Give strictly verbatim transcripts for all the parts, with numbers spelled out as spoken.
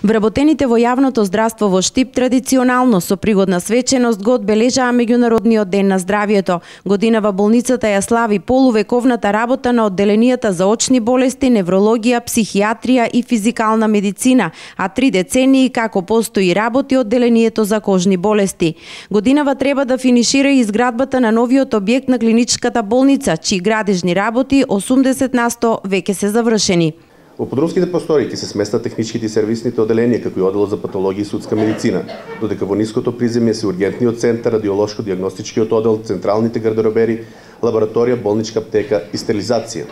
Вработените во јавното здравство во Штип традиционално со пригодна свеченост го одбележаа меѓународниот ден на здравјето. Годинава болницата ја слави полувековната работа на одделенијата за очни болести, неврологија, психијатрија и физикална медицина, а три децении како постои работи одделението за кожни болести. Годинава треба да финишира и изградбата на новиот објект на клиничката болница, чии градежни работи осумдесет на сто веќе се завршени. Во подромските простори ќе се сместат техничките и сервисните одделенија, како и одделот за патологија и судска медицина, додека во ниското приземје се ургентниот центар, радиолошко-дијагностичкиот оддел, централните гардеробери, лабораторија, болничка аптека и стерилизација.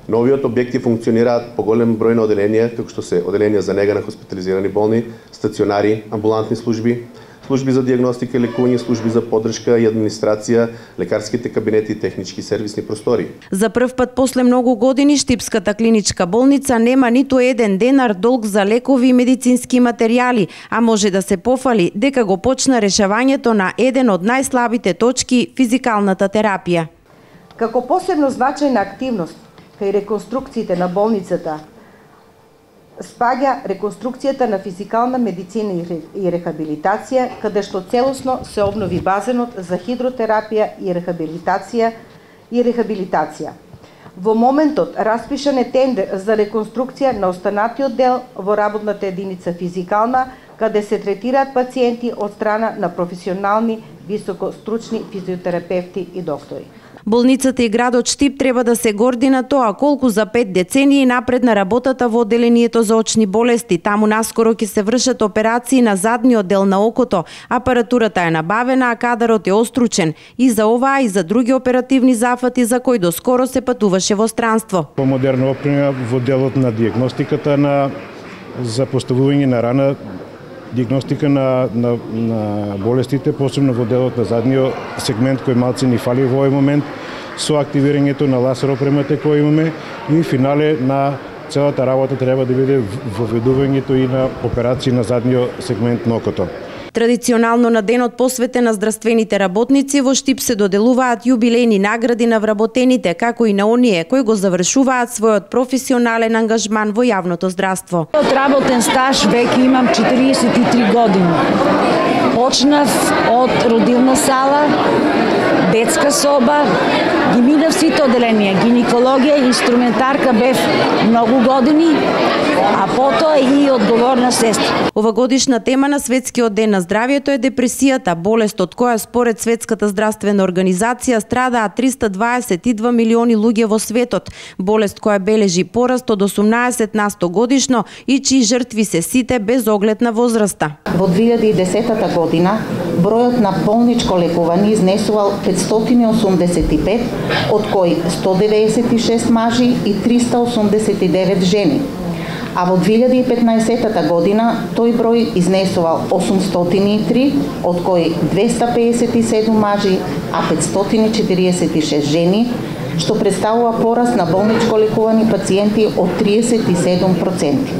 Новиот објекти функционираат по голем број на одделенија, како што се одделенија за нега на хоспитализирани болни, стационари, амбулантни служби, служби за дијагностика и лекување, служби за поддршка и администрација, лекарските кабинети и технички сервисни простори. За прв пат после многу години Штипската клиничка болница нема ниту еден денар долг за лекови и медицински материјали, а може да се пофали дека го почна решавањето на еден од најслабите точки – физикалната терапија. Како посебно значајна активност кај реконструкциите на болницата спаѓа реконструкцијата на физикална медицина и рехабилитација, каде што целосно се обнови базенот за хидротерапија и рехабилитација и рехабилитација. Во моментот распишан е тендер за реконструкција на останатиот дел во работната единица физикална, каде се третираат пациенти од страна на професионални високостручни физиотерапевти и доктори. Болницата и градот Штип треба да се горди на тоа колку за пет децении напредна работата во одделението за очни болести. Таму наскоро ќе се вршат операции на задниот дел на окото. Апаратурата е набавена, а кадарот е остручен. И за оваа и за други оперативни зафати за кои доскоро се патуваше во странство. Помодерна опрема во делот на дијагностиката на за поставување на рана, дијагностика на, на, на болестите, посебно во делот на задниот сегмент кој малце ни фали во овој момент, со активирањето на лазер опремата која имаме и финале на целата работа треба да биде воведувањето и на операции на задниот сегмент на окото. Традиционално на денот посветен на здравствените работници во Штип се доделуваат јубилејни награди на вработените, како и на оние кои го завршуваат својот професионален ангажман во јавното здравство. Од работен стаж веќе имам четириесет и три години. Почнав од родилна сала, детска соба, ги минав сите одделенија, гинекологија, инструментарка бев многу години, а потоа и одговорна сестра. Овогодишна тема на Светскиот ден на здравјето е депресијата, болест од која според Светската здравствена организација страдаат триста дваесет и два милиони луѓе во светот, болест која бележи пораст од осумнаесет на сто годишно и чии жртви се сите без оглед на возраста. Во две илјади и десета година бројот на болничко лекување изнесувал петстотини и осумдесет и пет, од кои сто деветдесет и шест мажи и триста осумдесет и девет жени. А во две илјади и петнаесета година тој број изнесувал осумстотини и три, од кои двеста пеесет и седум мажи, а петстотини и четириесет и шест жени, што представува пораст на болничко лекувани пациенти од триесет и седум проценти.